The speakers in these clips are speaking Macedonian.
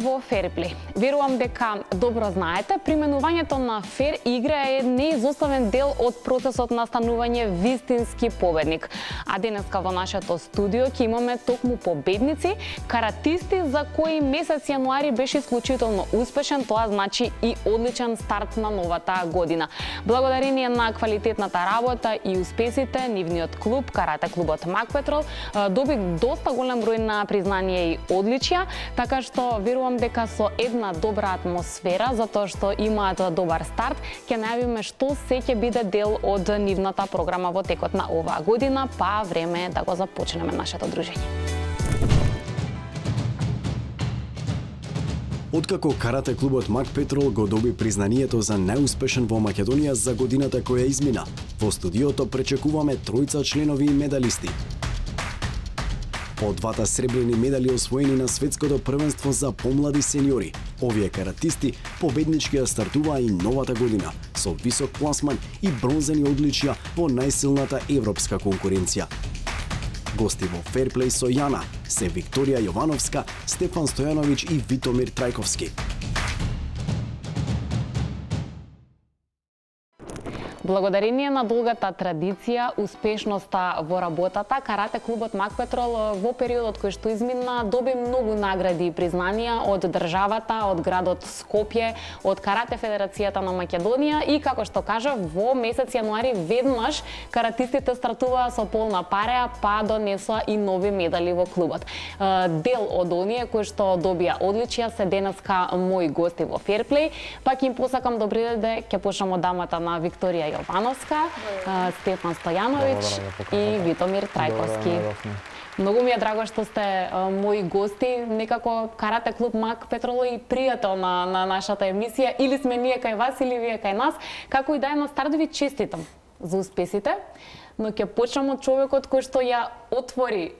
во Ферплей. Верувам дека добро знаете, применувањето на фер игра е неизоставен дел од процесот на станување вистински победник. А денеска во нашето студио ќе имаме токму победници, каратисти за кои месец јануари беше исклучително успешен, тоа значи и одличен старт на новата година. Благодарение на квалитетната работа и успесите, нивниот клуб, карате клубот Мак Петрол, доби доста голем број на признание и одличија, така што верувам дека со една добра атмосфера, затоа што имаат добар старт, ќе најавиме што се ќе биде дел од нивната програма во текот на оваа година, па време е да го започнеме нашето дружење. Откако карате клубот Мак Петрол го доби признанието за најуспешен во Македонија за годината која измина, во студиото пречекуваме тројца членови и медалисти. По двата сребрени медали освоени на светското првенство за помлади сениори, овие каратисти победнички ја стартуваа и новата година со висок пласман и бронзени одличија во најсилната европска конкуренција. Гости во Ферплей со Јана се Викторија Јовановска, Стефан Стојановиќ и Витомир Трајковски. Благодарение на долгата традиција, успешноста во работата, карате клубот Мак Петрол во периодот кој што измина доби многу награди и признанија од државата, од градот Скопје, од Карате Федерацијата на Македонија и, како што кажав, во месец јануари веднаш каратистите стартуваа со полна пареа, па донесоа и нови медали во клубот. Дел од оние кои што добија одличија се денеска мои гости во Ферплей, па ќе им посакам добри дојде, ќе почнам од дамата на Викторија Јовановска, Стефан Стојановиќ и Витомир Трајковски. Многу ми е драго што сте мои гости, некако карате клуб Мак Петрол и пријател на нашата емисија, или сме ние кај вас, или вие кај нас. Како и да е на старт ви честитам за успесите, но ќе почнам од човекот кој што ја отвори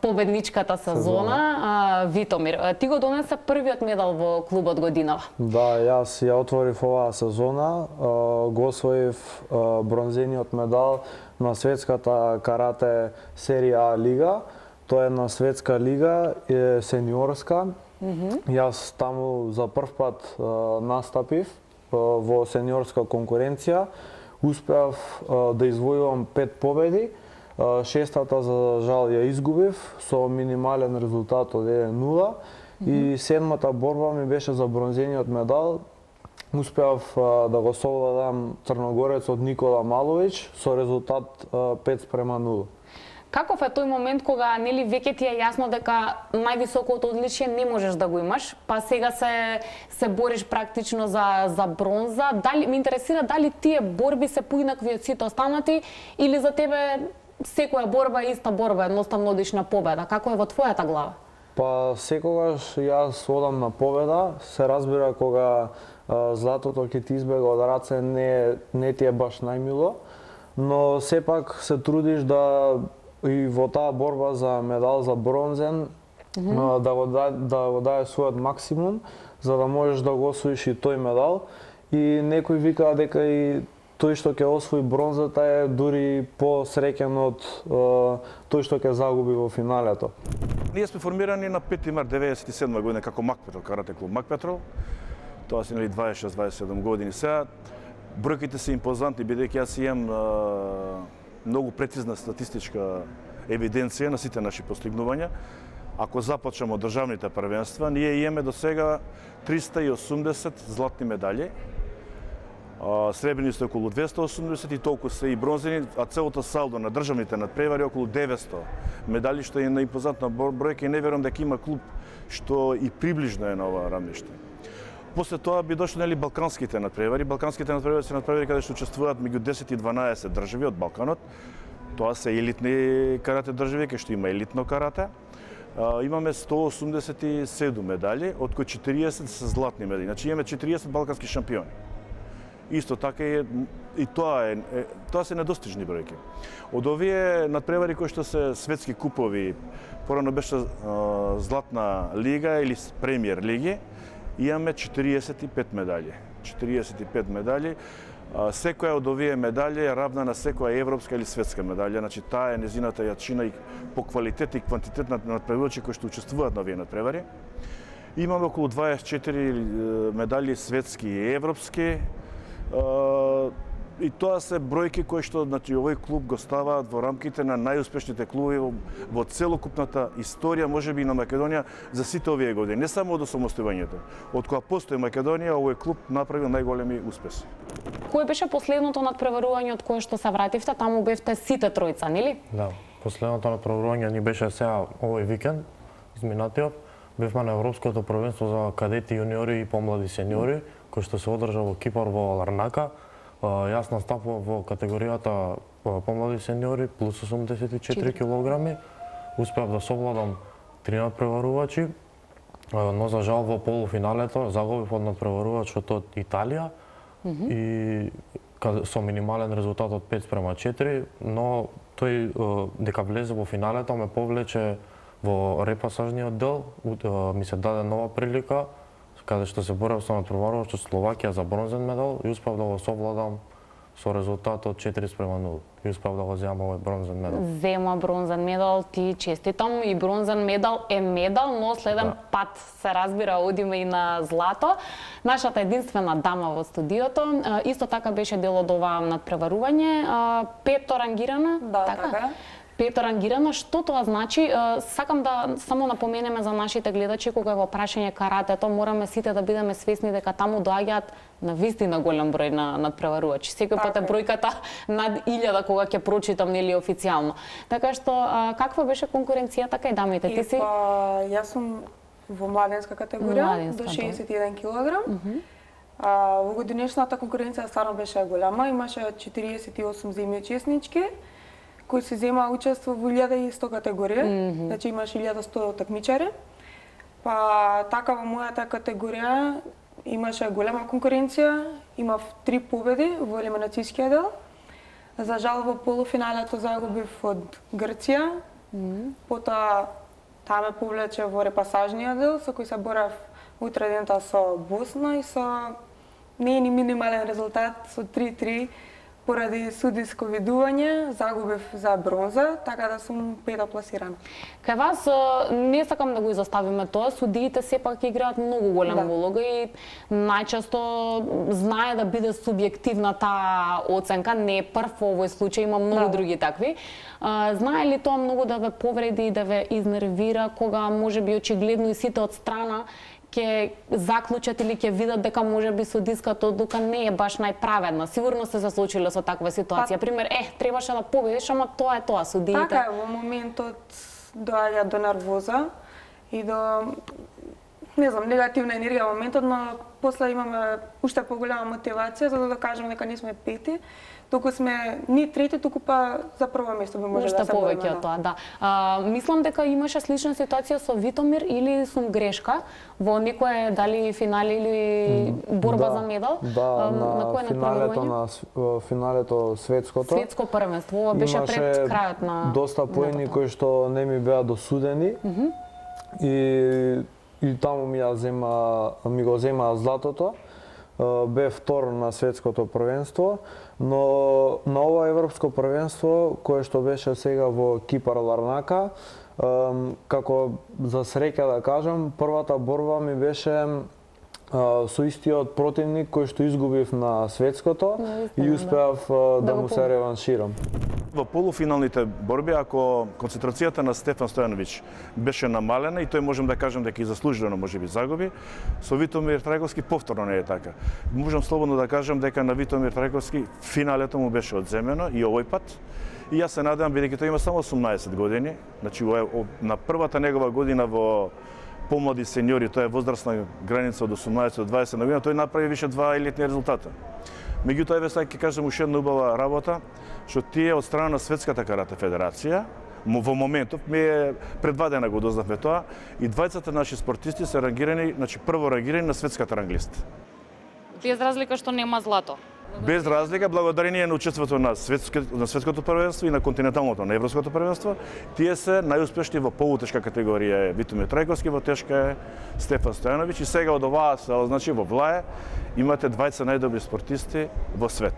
победничката сезона, Витомир. Ти го донесе првиот медал во клубот годинава. Да, јас ја отворив оваа сезона, го освоив бронзениот медал на светската карате серија А лига. Тоа е на светска лига, е сениорска. Јас таму за прв пат настапив во сениорска конкуренција. Успеав да извојувам 5 победи, шестата за жал ја изгубив со минимален резултат од 1-0 и седмата борба ми беше за бронзениот медал. Успеав да го совладам црногорецот Никола Маловиќ со резултат 5:0. Каков е тој момент кога нели веќе ти е јасно дека највисокото одличие не можеш да го имаш, па сега се бориш практично за бронза? Дали ме интересира дали тие борби се поинакви од сите останати или за тебе секоја борба е иста борба, едноставно одиш на победа? Како е во твојата глава? Па секогаш јас одам на победа, се разбира кога златото ќе ти избега од раце не ти е баш најмило, но сепак се трудиш да и во таа борба за медал за бронзен да го даде својот максимум за да можеш да го освоиш и тој медал. И некој вика дека и тој што ќе освои бронзата е дури посреќен од тој што ќе загуби во финалето. Ние сме формирани на 5 март 1997 година како Мак Петрол, карате клуб Мак Петрол. Тоа се 26-27 години сега. Бројките се импозантни бидејќи јас имам многу прецизна статистичка евиденција на сите наши постигнувања. Ако започнеме од државните првенства, ние имаме до сега 380 златни медали. Сребрени се околу 280 и толку се и бронзени, а целото салдо на државните надпревари околу 900 медали, што е најимпозантна бројка и не верувам дека има клуб што и приближно е на ова рамниште. После тоа би дошло нели балканските надпревари. Балканските надпревари се надпревари каде што учествуваат меѓу 10 и 12 држави од Балканот. Тоа се елитни карате држави, кај што има елитно карате. Имаме 187 медали, од кои 40 се златни медали. Значи имаме 40 балкански шампиони. Исто така и тоа се недостижни бројки. Од овие надпревари кои што се светски купови, порано беше Златна лига или Премиер лиги, имаме 45 медали. 45 медали. Секоја од овие медали е равна на секоја европска или светска медалја. Значи таа е незината јачина и по квалитет и квантитет на надпреварувачи кои што учествуваат на овие надпревари. Имаме околу 24 медали светски и европски. И тоа се бројки кои што овој клуб го ставаат во рамките на најуспешните клубови во целокупната историја, можеби и на Македонија за сите овие години, не само од осамостојувањето. Од кога постои Македонија, овој клуб направил најголеми успеси. Кој беше последното надпреварување од кое што се вративте? Таму бевте сите тројца, нели? Да, последното надпреварување ни беше сега овој викенд, изминатиот. Бевме на Европското првенство за кадети, јуниори и помлади сениори, кој што се одржа во Кипар во Ларнака. Јас настапував во категоријата помлади сениори плюс 84 килограми. Успеав да совладам 3 надпреварувачи, но за жал во полуфиналето загубив од надпреварувачот од Италија и со минимален резултат од 5:4, но тој дека влезе во финалето ме повлече во репасажниот дел, ми се даде нова прилика каде што се борев со надпреварувач од Словакија за бронзен медал и успеав да го совладам со резултат од 4:0 и успеав да го земам овој бронзен медал. Зема бронзен медал, ти честитам, и бронзен медал е медал, но следен пат се разбира одиме и на злато. Нашата единствена дама во студиото исто така беше дел од ова надпреварување, пето рангирана, така? Пето рангирана, што тоа значи? Сакам да само напоменеме за нашите гледачи кога е во прашање каратето, мораме сите да бидеме свесни дека таму доаѓаат на вистина голем број на надпреварувачи. Секој пат е бројката над 1000 кога ќе прочитам нели официјално. Така што каква беше конкуренцијата кај дамите? Ти си? Јас сум во младенска категорија до 61 килограм. Во годинешната конкуренција стварно беше голема, имаше 48 земји учеснички кои се зема учество во 1100 категорија, значи имаш 1100 такмичари. Па така во мојата категорија имаше голема конкуренција, имав 3 победи во елиминацијскиот дел. За жал во полуфиналето загубив од Грција. Потоа таа ме повлече во репасажниот дел со кој се борев утре дента со Босна и со не е ни минимален резултат со 3-3. Поради судиско видување загубив за бронза, така да сум пета пласирана. Кај вас не сакам да го изоставиме тоа, судиите сепак играат многу голема улога и најчесто знае да биде субјективна таа оценка, не е прв во овој случај, има многу други такви. Знае ли тоа многу да ве повреди и да ве изнервира кога можеби очигледно и сите од страна ќе заклучат или ќе видат дека можеби судиската одлука не е баш најправедна. Сигурно се заслучиле со таква ситуација. Пример, требаше да победиш, ама тоа е тоа, судиите. Така е, во моментот доаѓа до нервоза и до не знам, негативна енергија во моментот, но после имаме уште поголема мотивација за да докажеме дека не сме пети, туку сме ни трети, туку па за прво место би може да се бориме. Уште повеќе од тоа, да. Мислам дека имаше слична ситуација со Витомир или сум грешка во некое дали финале или борба за медал? Да, на финалето светското. Светско првенство, ова беше пред крајот на доста поени кои што не ми беа досудени. И таму ми го зема златото. Бе втор на светското првенство, но на ова европско првенство кое што беше сега во Кипар Ларнака, како за среќа да кажам, првата борба ми беше со истиот противник кој што изгубив на светското и успеав да му се реванширам. Во полуфиналните борби, ако концентрацијата на Стефан Стојановиќ беше намалена, и тој можем да кажем дека и заслужено можеби загуби, со Витомир Трајковски повторно не е така. Можам слободно да кажем дека на Витомир Трајковски финалето му беше одземено и овој пат. И јас се надевам, бидејќи тој има само 18 години, значи на првата негова година во помлади сениори, тоа е возрастна граница од 18 до 20 година, тој направи више 2 елитни резултата. Меѓутоа, еве сега ќе кажам уште една убава работа, што тие од страна на Светската карате федерација, во моментов, ми е пред 2 дена го дознавме тоа, и двајцата наши спортисти се рангирани, значи прво рангирани на светската ранглиста. Без разлика што нема злато. Без разлика, благодарение на учеството на светското првенство и на континенталното, на европското првенство, тие се најуспешни во полутешка категорија. Витомир Трајковски во тешка е, Стефан Стојановиќ, и сега од оваа сала, значи во Влае, имате двајца најдобри спортисти во свет.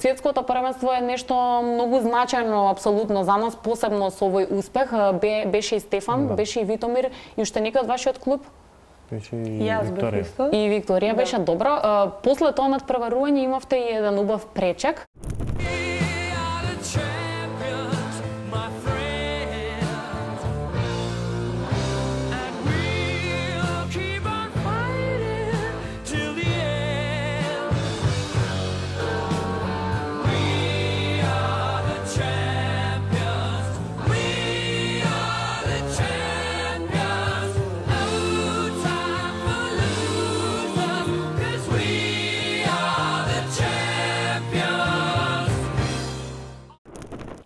Светското првенство е нешто многу значајно апсолутно за нас, посебно со овој успех. Беше и Стефан, беше и Витомир и уште некој од вашиот клуб? Беше и Јас бев Викторија. исто. И Викторија беше добро. После тоа надпреварување имавте и еден убав пречек.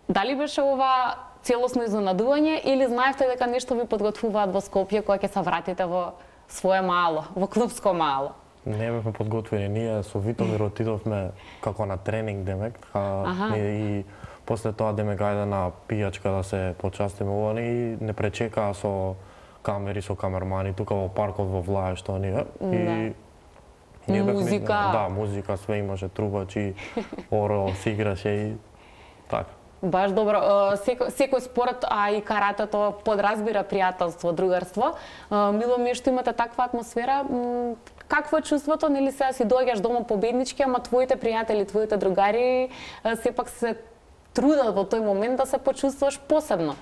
Дали беше ова целосно изненадување или знаевте дека нешто ви подготвуваат во Скопје кога ќе се вратите во свое мало, во клубско мало? Не бевме подготвени, ние со Витомир отидовме како на тренинг демек, и после тоа демек ајде на пијачка да се почастиме овој и не пречекаа со камери, со камермани тука во паркот во Влаја што ние и ние музика. Да, музика, све имаше, трубачи, оро, се играше и така. Баш добро. Секој спорт, а и каратето подразбира пријателство, другарство. Мило ми е што имате таква атмосфера. Какво е чувството, нели сега си доаѓаш дома победнички, ама твоите пријатели, твоите другари сепак се трудат во тој момент да се почувствуваш посебно?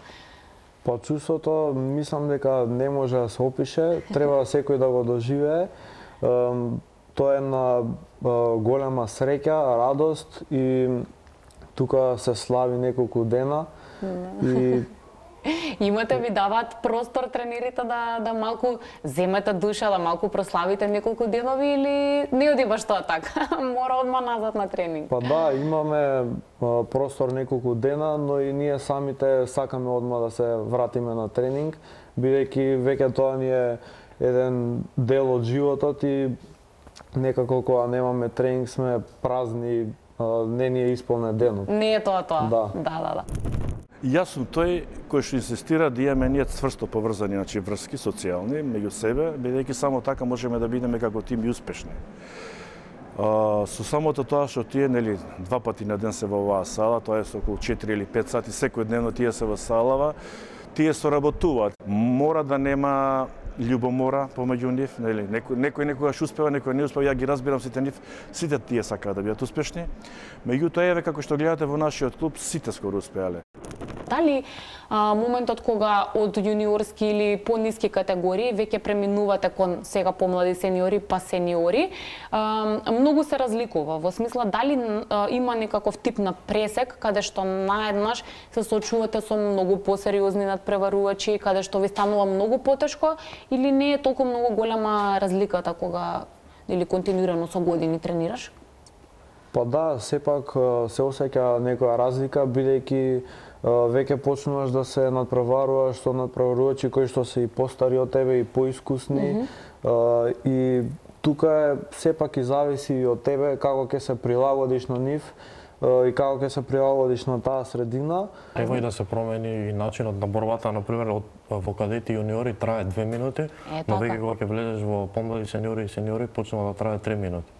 Па чувството, мислам дека не може да се опише, треба секој да го доживее. Тоа е на голема среќа, радост и тука се слави неколку дена и Имате ви даваат простор тренерите да малку земете душа, да малку прославите неколку денови или не оди баш тоа така? Мора одма назад на тренинг. Па да, имаме простор неколку дена, но и ние самите сакаме одма да се вратиме на тренинг, бидејќи веќе тоа ни е еден дел од животот и некако кога немаме тренинг сме празни, не ни е исполнет денот. Не е тоа. Да. Јас сум тој кој што инсистира да имаме ние цврсто поврзани, значи врски социјални меѓу себе, бидејќи само така можеме да бидеме како тим и успешни. Со самото тоа што тие нели два пати на ден се во оваа сала, тоа е со околу 4 или 5 сати секојдневно тие се во салава, тие соработуваат. Мора да нема љубомора помеѓу нив, нели некој некогаш успева, некој не успева, ја ги разбирам сите нив, сите тие сакаат да бидат успешни. Меѓутоа еве како што гледате во нашиот клуб сите скоро успеале. Дали моментот кога од јуниорски или пониски категории веќе преминувате кон сега помлади сениори па сениори, многу се разликува во смисла дали има некаков тип на пресек каде што наеднаш се соочувате со многу посериозни надпреварувачи, каде што ви станува многу потешко или не е толку многу голема разликата кога или континуирано со години тренираш? Па да, сепак се осеќа некоја разлика бидејќи веќе почнуваш да се надпреваруваш со надпреварувачи кои што се и постари од тебе и поискусни и тука е сепак и зависи и од тебе како ќе се прилагодиш на нив и како ќе се прилагодиш на таа средина. Треба и да се промени и начинот на борбата, например, во кадети јуниори трае 2 минути, но веќе кога ќе влезеш во помлади сениори и сениори почнува да трае 3 минути.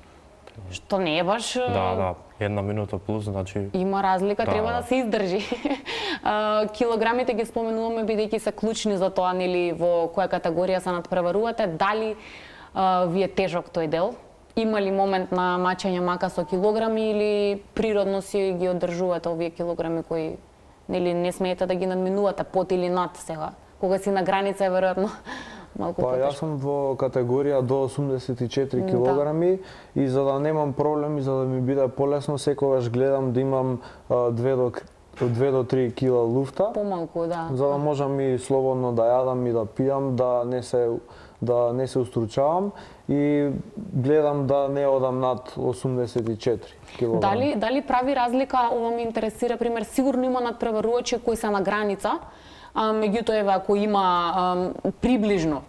Што не е баш... Да, 1 минута плюс, значи... Има разлика, треба да се издржи. Килограмите ги споменуваме бидејќи се клучни за тоа, нели, во која категорија се надпреварувате. Дали ви е тежок тој дел? Има ли момент на мачење мака со килограми или природно си ги одржувате овие килограми кои нели не смеете да ги надминувате под или над сега? Кога си на граница е веројатно малку потешко. Па јас сум во категорија до 84 килограми и за да немам проблем и за да ми биде полесно, секогаш гледам да имам 2 до 3 кила луфта. Помалку, да. За да можам и слободно да јадам и да пијам, да не се устручавам и гледам да не одам над 84 килограми. Дали прави разлика, ова ме интересира, пример, сигурно има надпреварувачи кои се на граница, меѓутоа еве ако има приближно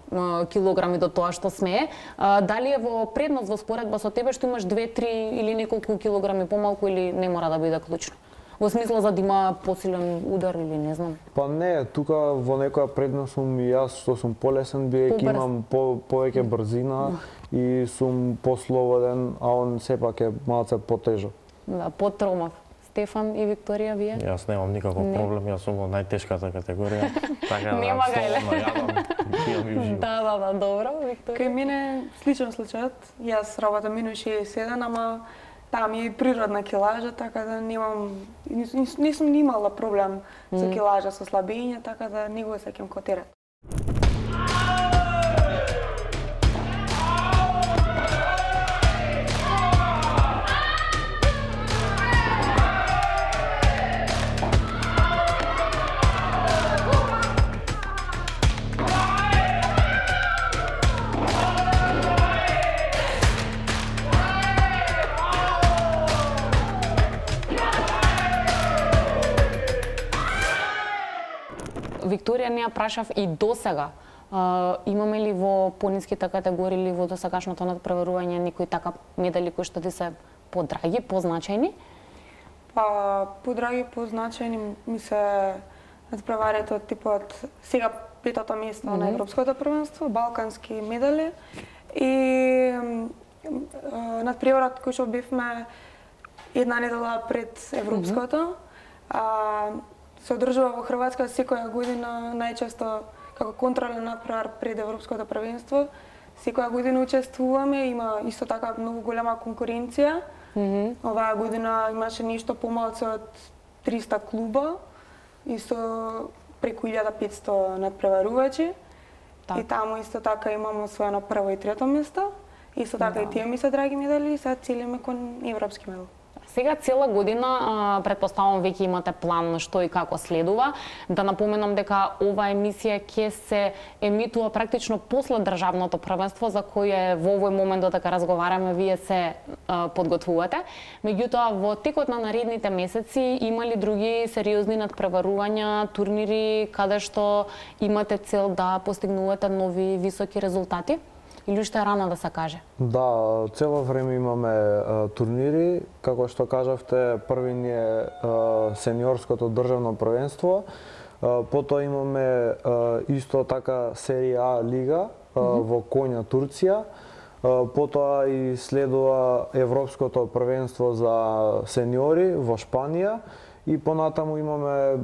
килограми до тоа што смее, дали е во предност во споредба со тебе што имаш 2-3 или неколку килограми помалку или не мора да биде клучно? Во смисла за да има посилен удар или не знам? Па не, тука во некоја предност сум и јас што сум полесен, бидејќи имам повеќе брзина и сум послободен, а он сепак е малце потежок. Да, потромав. Стефан и Викторија, вие? Јас немам никаков проблем, јас сум во најтешката категорија. Така Нема га еле. Пијам и уживам. Да, добро, Викторија. Кај мене сличен случајот. Јас работам минус 67, ама таа ми е природна килажа, така да немам не сум ни имала проблем со килажа, со слабење, така да не го сеќам ко терет. Викторија, не ја прашав и досега. Имаме ли во пониските категории или во досегашното надпреварување некои така медали кои што ти се подраги, позначајни? Па, подраги, позначајни ми се надпреварите од типот сега петото место на Европското првенство, балкански медали и надпреварот кој што бевме една недела пред Европското. Се одржува во Хрватска секоја година, најчесто како контролен надпревар пред Европското првенство. Секоја година учествуваме, има исто така многу голема конкуренција. Оваа година имаше нешто помалку од 300 клуба, исто преку 1500 надпреварувачи. И таму исто така имаме освоено прво и трето место. Исто така и тие ми се драги медали и сега целиме кон европски медал. Сега цела година, претпоставувам веќе имате план што и како следува. Да напоменам дека ова емисија ќе се емитува практично после државното првенство за кое во овој момент додека разговараме вие се подготвувате. Меѓутоа во текот на наредните месеци има ли други сериозни надпреварувања, турнири каде што имате цел да постигнувате нови високи резултати? Или уште е рано да се каже? Да, цело време имаме турнири, како што кажавте, први ни е сениорското државно првенство, потоа имаме исто така серија А лига во Конја, Турција, потоа и следува Европското првенство за сениори во Шпанија и понатаму имаме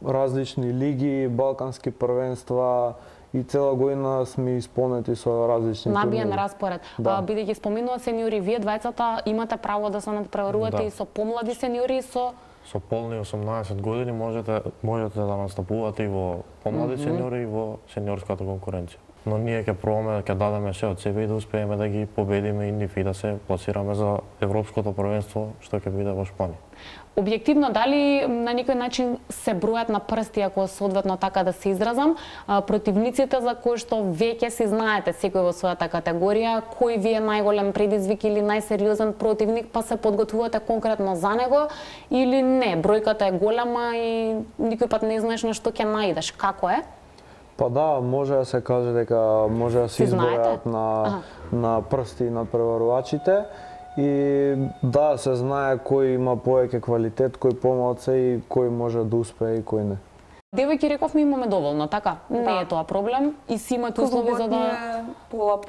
различни лиги, балкански првенства, и цела година сме исполнети со различни турнири. Набиен распоред. Бидејќи споминува сениори, вие двајцата имате право да се надпреварувате и со помлади сениори и со полни 18 години можете да настапувате и во помлади сениори и во сениорската конкуренција. Но ние ќе пробаме, ќе дадеме се од себе и да успееме да ги победиме и нив и да се пласираме за Европското првенство што ќе биде во Шпанија. Објективно, дали на некој начин се бројат на прсти, ако соодветно така да се изразам, противниците за кои што веќе си знаете секој во својата категорија, кој ви е најголем предизвик или најсериозен противник, па се подготвувате конкретно за него или не? Бројката е голема и никој пат не знаеш на што ќе наидеш. Како е? Па да, може да се каже дека може да се избројат на прсти надпреварувачите. И да, се знае кој има повеќе квалитет, кој помалце и кој може да успее и кој не. Девојки рековме имаме доволно, така? Не е тоа проблем и си имате услови за да пола.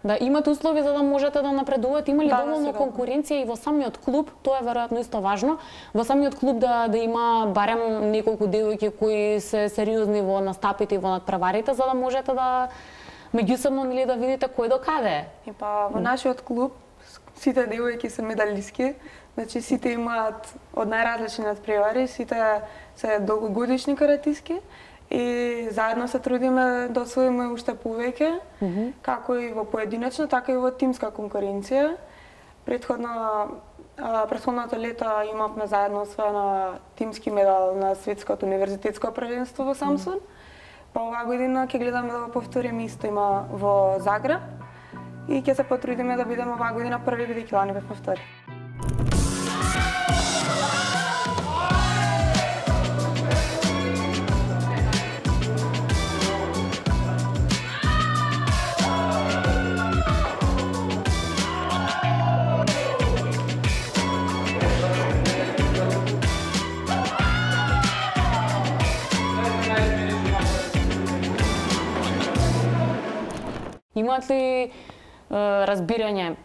Да, имате услови за да можете да напредувате. Има ли доволно конкуренција и во самиот клуб? Тоа е веројатно исто важно. Во самиот клуб да има барем неколку девојки кои се сериозни во настапите и во надпреварите за да можете да меѓусебно нели да видите кој до каде. И па во нашиот клуб сите девојки се медалистки, значи сите имаат од најразлични надпревари, сите се долгогодишни каратистки и заедно се трудиме да освоиме уште повеќе, како и во поединечна, така и во тимска конкуренција. Претходното лето имавме заедно освоено тимски медал на светското универзитетско првенство во Самсун. Па оваа година ќе гледаме да го повториме исто има во Загреб. И ќе се потрудиме да бидеме оваа година први, бидејќи лани бевме втори. Имаат ли разбирање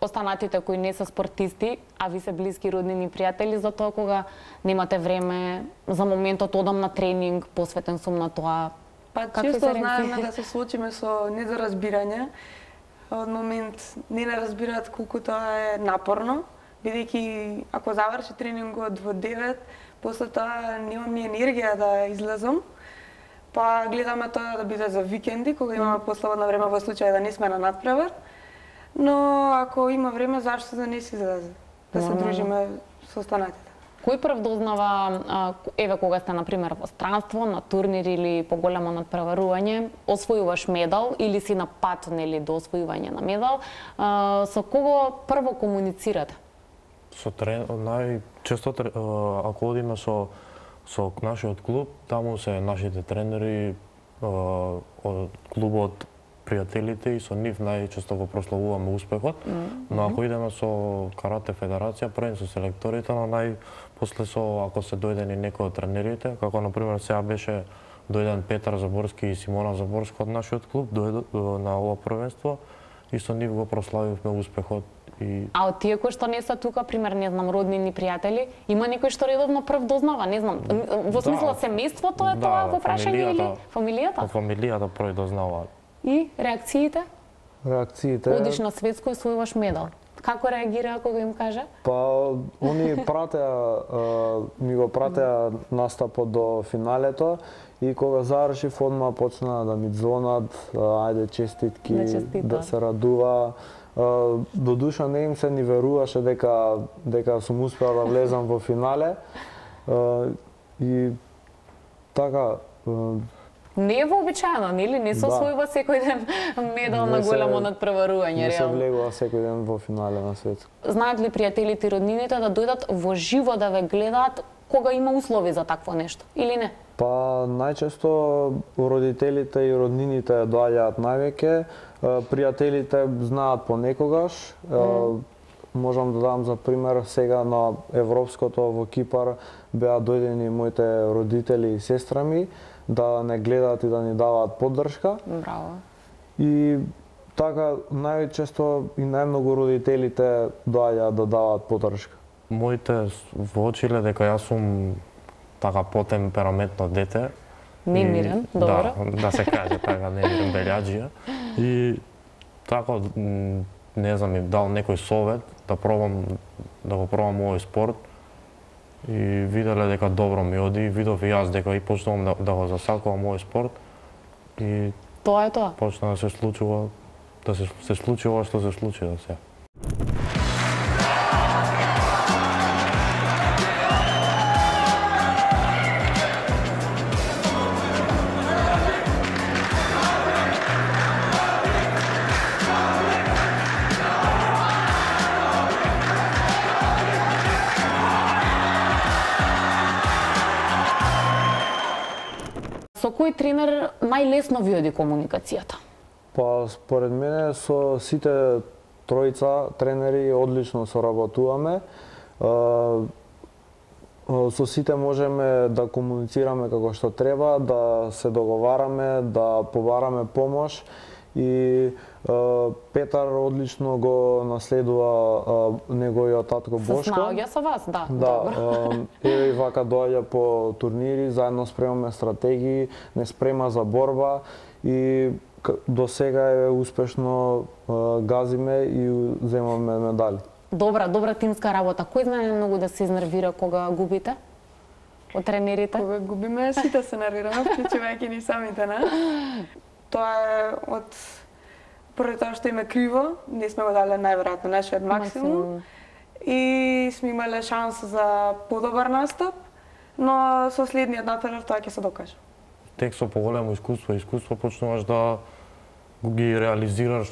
останатите кои не се спортисти, а ви се блиски роднини пријатели, за тоа кога немате време за моментот одам на тренинг, посветен сум на тоа? Па често знаеме да се случиме со недоразбирање. Од момент не разбираат колку тоа е напорно, бидејќи ако заврши тренингот во 9, после тоа немам ни енергија да излезам. Па гледаме тоа да биде за викенди, кога имаме послободно време во случај да не сме на надпревар. Но ако има време, зашто да не се излезе? Да се дружиме со останатите. Кој прв дознава, еве кога сте, например, во странство, на турнир или поголемо надпреварување, освојуваш медал или си на пат, нели, до освојување на медал, со кого прво комуницирате? Со најчесто ако одиме со нашиот клуб, таму се нашите тренери од клубот, пријателите, и со нив најчесто го прославуваме успехот. Но ако идеме со Карате Федерација, прво со селекторите, но после ако се дојдени некои од тренерите, како например сега беше дојден Петар Заборски и Симона Заборска од нашиот клуб на ова првенство, и со нив го прославивме успехот. А од тие кои што не се тука, пример, не знам, роднини, пријатели, има некој што редовно прв дознава, не знам, во смисла семејството е тоа во прашање или фамилијата? Фамилијата прво дознава. И реакциите? Реакциите... Одиш на светско и освојуваш медал. Како реагираа кога им кажа? Па, они ми го пратеа настапот до финалето, и кога завршив, одма почна да ми звонат, ајде честитки, да се радува. До душа не им се ни веруваше дека сум успеал да влезам во финале. И така... Не е вообичаено, нели? Не се освојува секој ден медал на големо надпреварување, реално. Не се влегува секој ден во финале на светско. Знаат ли пријателите и роднините да дојдат во живо да ве гледаат кога има услови за такво нешто, или не? Па, најчесто родителите и роднините доаѓаат највеќе, пријателите знаат понекогаш. Можам да дам за пример, сега на Европското во Кипар беа дојдени моите родители и сестра ми да не гледаат и да ни даваат поддршка. Браво. И така најчесто и најмногу родителите доаѓаат да даваат поддршка. Моите воочиле дека јас сум така потемпераментно дете. Немирен, добро. Да се каже така, немирен белјаџија. И така, не знам, им дал некој совет да го пробам овој спорт. И виделе дека добро ми оди, видов и јас дека и почнувам да го засакувам овој спорт. И тоа е тоа. Почна да се случува, се случи ова што се случи да се. Со кој тренер најлесно ви оди комуникацијата? Па, според мене, со сите тројца тренери одлично соработуваме. Со сите можеме да комуницираме како што треба, да се договараме, да побараме помош. И Петар одлично го наследува неговиот татко Бошко. Се снаоѓа со вас, да. Да, еве и вака доаѓа по турнири, заедно спремаме стратегии, не спрема за борба и до сега е успешно газиме и земаме медали. Добра тимска работа. Кој знае многу да се изнервира кога губите? Од тренерите? Кога губиме, сите се нервираме, вклучувајќи ни самите нас. Тоа е од прво тоа што име криво, не сме го дале најверојатно нашиот максимум и сме имале шанса за подобар настап, но со следниот натпревар тоа ќе се докаже. Тек со поголемо искуство почнуваш да ги реализираш,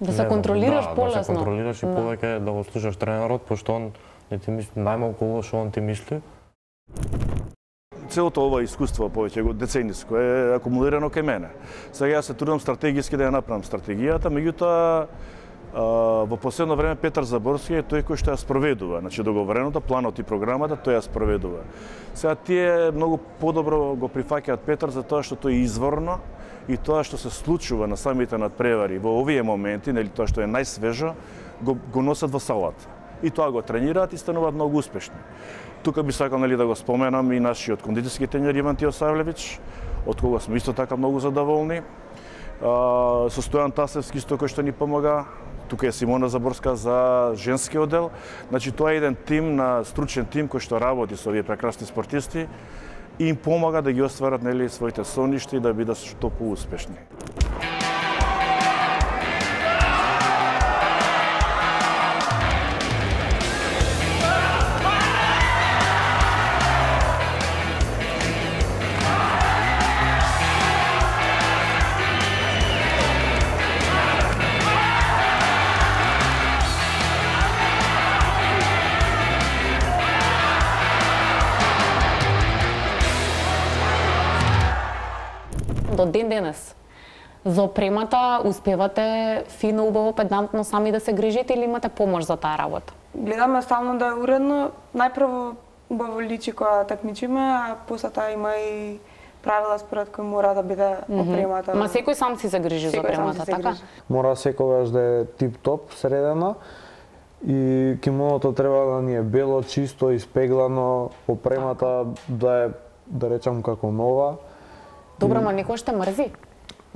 да се контролираш полесно. Да се контролираш и повеќе да го слушаш тренерот, пошто он не ти мисли најмалку ово што он ти мисли. Целото ова искуство, повеќе го децениско, е акумулирано кај мене. Сега јас се трудам стратегиски да ја направам стратегијата, меѓутоа во последно време Петар Заборски е тој кој што ја спроведува, значи договореното, планот и програмата, тој ја спроведува. Сега тие многу подобро го прифаќаат Петар за тоа што тој е изворно и тоа што се случува на самите надпревари во овие моменти, нели тоа што е најсвежо, го носат во салата. И тоа го тренираат и стануваат многу успешни. Тука би сакал да го споменам и нашиот кондитерски тренер Иван Тиосавлевич, од кога сме исто така многу задоволни. Со Стојан Тасевски кој што ни помага. Тука е Симона Заборска за женски оддел. Значи тоа е еден тим на стручен тим кој што работи со овие прекрасни спортисти и им помага да ги остварат своите соништа и да бидат што поуспешни. До ден денес за опремата успевате фино, убаво, педантно сами да се грижите или имате помош за таа работа? Гледаме само да е уредно. Најпрво убаво личи кога такмичиме, а после тоа има и правила според кои мора да биде опремата. Ма секој сам си се грижи за опремата, така? Мора секогаш да е тип-топ, средена. И кимоното треба да ни е бело, чисто, испеглано, опремата да е, да речам, како нова. Добро, ма некој ще мрзи.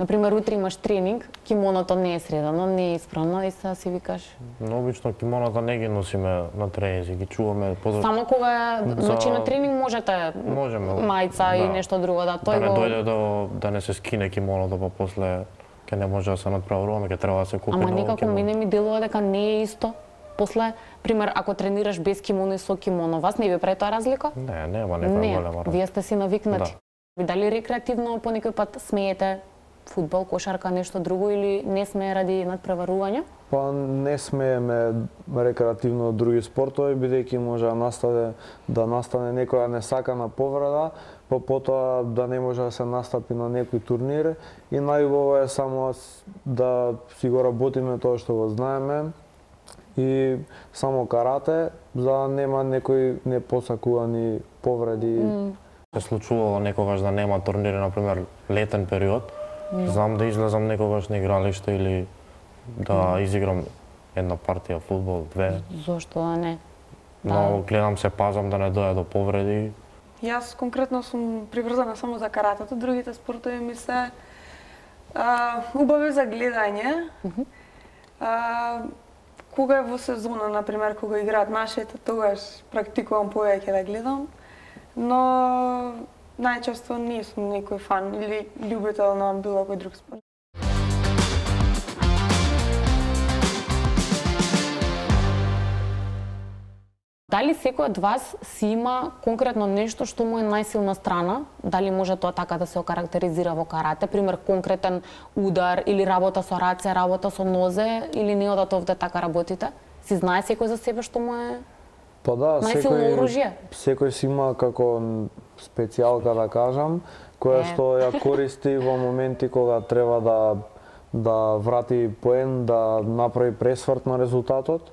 Например, утре имаш тренинг, кимоното не е средано, не е исправно и сега си викаш. Но обично кимоната не ги носиме на тренинзи, ги чуваме позад. Само кога значи на тренинг можете мајца и нешто друго да тој да не дојде да не се скине кимоното, па после ќе не може да се надправуваме, ќе треба да се купи ново кимоно. Ама некако мене ми делува дека не е исто. После, пример, ако тренираш без кимоно и со кимоно, вас не ви прави тоа разлика? Не, нема некоја голема разлика. Вие сте си навикнати. Ви дали рекреативно по некој пат смеете фудбал, кошарка, нешто друго или не смее ради надпреварување? Па не смееме рекреативно други спортови, бидејќи може да настане некоја несакана повреда, па потоа да не може да се настапи на некој турнир и најубаво е само да си го работиме тоа што го знаеме и само карате, за да нема некои непосакувани повреди. Се случувало некогаш да нема турнири, например, летен период, знам да излезам некогаш на игралиште или да изиграм една партија фудбал, две. Зошто да не? Но гледам се пазам да не дојде до повреди. Јас конкретно сум приврзана само за каратето, другите спортови ми се убави за гледање. Кога е во сезона, например, кога играат нашите, тогаш практикувам повеќе да гледам. Но најчесто не сум некој фан или љубител на било кој друг спорт. Дали секој од вас си има конкретно нешто што му е најсилна страна? Дали може тоа така да се окарактеризира во карате? Пример, конкретен удар или работа со раце, работа со нозе или не одат овде така работите? Си знае секој за себе што му е Па да, најсилно оружје? Секој си има како специјалка да кажам, која што ја користи во моменти кога треба да врати поен, да направи пресврт на резултатот.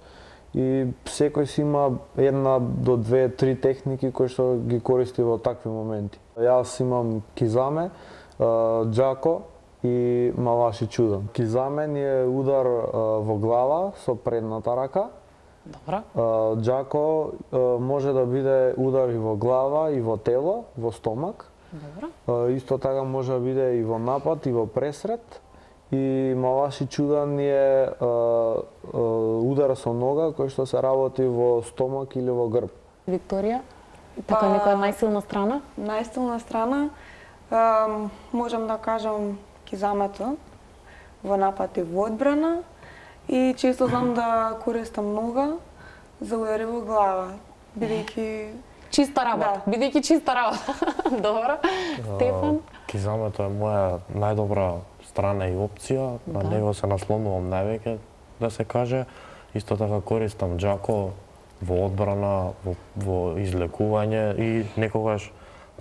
И секој си има една до две, три техники кои што ги користи во такви моменти. Јас имам кизаме, џако и малаши чудан. Кизаме ни е удар во глава со предната рака. Добро. Џако може да биде удар и во глава, и во тело, во стомак. Добро. Исто така може да биде и во напад, и во пресред. И малаши чудан е удар со нога кој што се работи во стомак или во грб. Викторија, така некоја најсилна страна? Најсилна страна, можам да кажам кизамето во напад и во одбрана. И често знам да користам нога за удари во глава, бидејќи чиста работа, бидејќи чиста работа. Добро. Стефан? Кизамето е моја најдобра страна и опција, на него се наслонувам највеќе, да се каже. Исто така користам џако во одбрана, во излекување и некогаш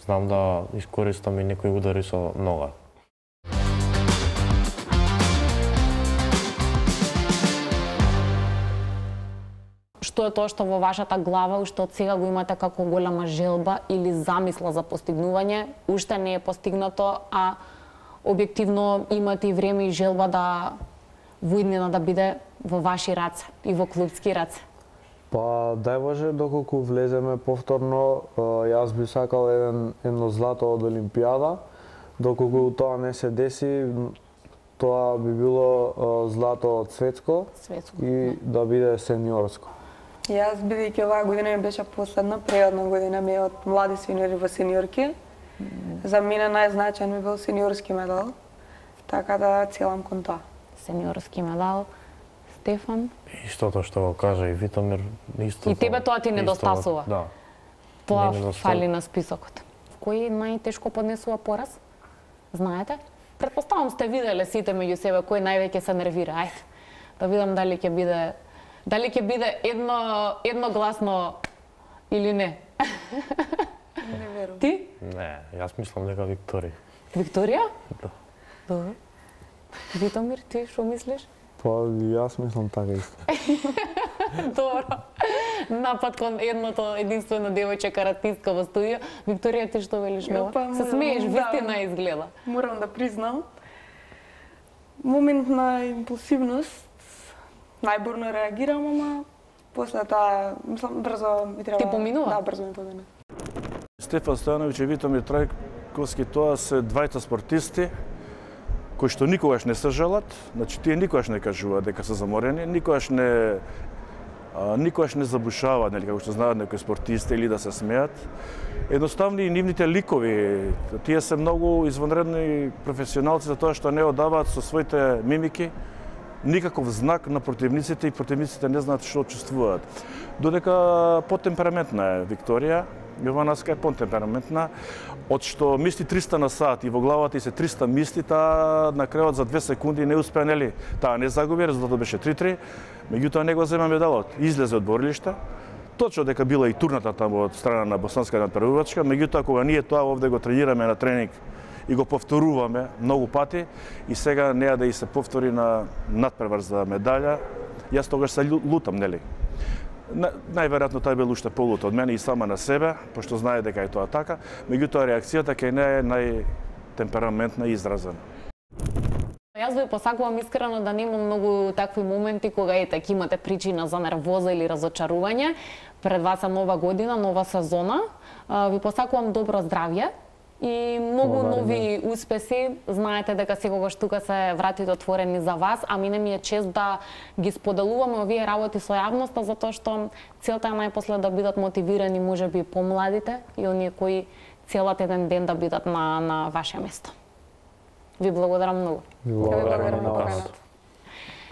знам да искористам и некои удари со нога. Што е тоа што во вашата глава уште од сега го имате како голема желба или замисла за постигнување, уште не е постигнато, а објективно имате и време и желба да во иднина да биде во ваши раце и во клубски раце? Па, дај Боже, доколку влеземе повторно, јас би сакал едно злато од Олимпијада. Доколку тоа не се деси, тоа би било злато од светско и да биде сениорско. Јас, бидејќи оваа година ми беше последна, преодна година ми е од млади сениори во сениорки. За мене најзначаен ми бил сениорски медал, така да целам кон тоа. Сениорски медал. Стефан? Истото што го кажа и Витомир, истото. И тебе тоа ти недостасува? Да. Тоа фали на списокот. Кој најтешко поднесува пораз? Знаете? Претпоставам сте виделе сите меѓу себе кој највеќе се нервира. Ајде, да видам дали ќе биде едногласно или не. Не верувам. Ти? Не, јас мислам дека Викторија. Викторија? Да. Добро. Витомир, ти што мислиш? Па, јас мислам така исто. Добро. Напад кон едното единствено девојче каратистка во студио. Викторија, ти што велиш нова? Се смееш, вистина изгледа. Морам да признам. Момент на импулсивност, најбурно реагирам, ама после тоа, мислам, брзо ми треба... Ти поминува? Да, брзо ми помина. Стефан Стојановиќ и Витомир Трајковски, тоа се двајца спортисти кои што никогаш не се жалат, значи тие никогаш не кажуваат дека се заморени, никогаш не забушаваат, нели, како што знаат некои спортисти или да се смеат. Едноставно и нивните ликови, тие се многу извонредни професионалци за тоа што не одаваат со своите мимики никаков знак на противниците и противниците не знаат што чувствуваат. Додека потемпераментна е Викторија, Јовановска е потемпераментна, од што мисли 300 на сат и во главата и се 300 мисли, таа на крајот за 2 секунди не успеа, нели, таа не загуби, резултатот беше 3-3, меѓутоа не го зема медалот, излезе од борилиште. Точно дека била и турната таму од страна на Босанска надпреварувачка, меѓутоа кога ние тоа овде го тренираме на тренинг и го повторуваме многу пати и сега неа да и се повтори на надпревар за медаља, јас тогаш се лутам, нели? Најверојатно тој бил уште полут од мене и сама на себе, пошто знае дека е тоа така, меѓутоа реакцијата кај неа е најтемпераментна и изразена. Јас ви посакувам искрено да нема многу такви моменти кога ќе имате причина за нервоза или разочарување. Пред вас е нова година, нова сезона. Ви посакувам добро здравје и многу нови успеси. Знаете дека секогаш тука се вратите отворени за вас, а мене ми е чест да ги споделуваме овие работи со јавноста, затоа што целта е најпосле да бидат мотивирани можеби помладите и оние кои целат еден ден да бидат на ваше место. Ви благодарам многу. Благодарам на вас.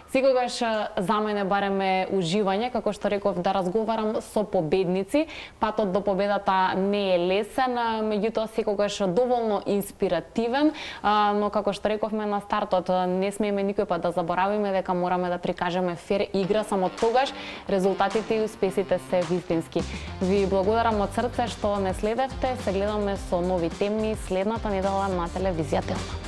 Секогаш за мене барем е уживање, како што реков, да разговарам со победници. Патот до победата не е лесен, меѓутоа секогаш доволно инспиративен, но како што рековме на стартот, не смееме никој пат да заборавиме дека мораме да прикажеме фер игра, само тогаш резултатите и успесите се вистински. Ви благодарам од срце што не следевте, се гледаме со нови теми следната недела на телевизија Телма.